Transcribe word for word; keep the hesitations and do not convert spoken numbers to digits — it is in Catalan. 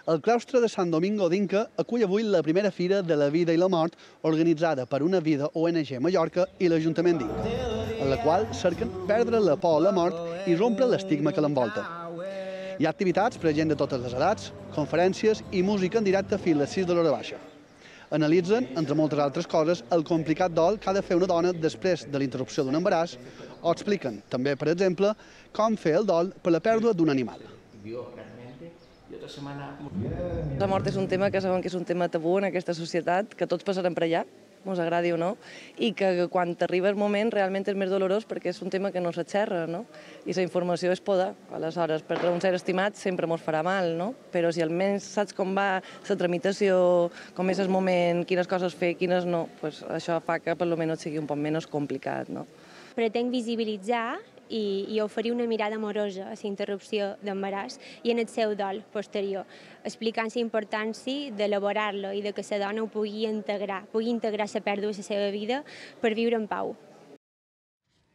El claustre de Sant Domingo d'Inca acull avui la primera Fira de la Vida i la Mort organitzada per Una Vida O N G Mallorca i l'Ajuntament d'Inca, en la qual cerquen perdre la por a la mort i rompre l'estigma que l'envolta. Hi ha activitats per a gent de totes les edats, conferències i música en directe fins a les sis de l'hora baixa. Analitzen, entre moltes altres coses, el complicat dol que ha de fer una dona després de la interrupció d'un embaràs o expliquen, també, per exemple, com fer el dol per la pèrdua d'un animal. La mort és un tema que sabem que és un tema tabú en aquesta societat, que tots passarem per allà, ens agradi o no, i que quan t'arriba el moment realment és més dolorós perquè és un tema que no s'aixerra, no? I la informació és poder. Aleshores, perdre un ser estimat sempre ens farà mal, no? Però si almenys saps com va la tramitació, com és el moment, quines coses fer, quines no, pues això fa que per almenys sigui un poc menys complicat, no? Pretenc visibilitzar i, i oferir una mirada amorosa a la interrupció d'embaràs i en el seu dol posterior, explicant la importància d'elaborar-lo i de que la dona ho pugui integrar, pugui integrar la pèrdua a la seva vida per viure en pau.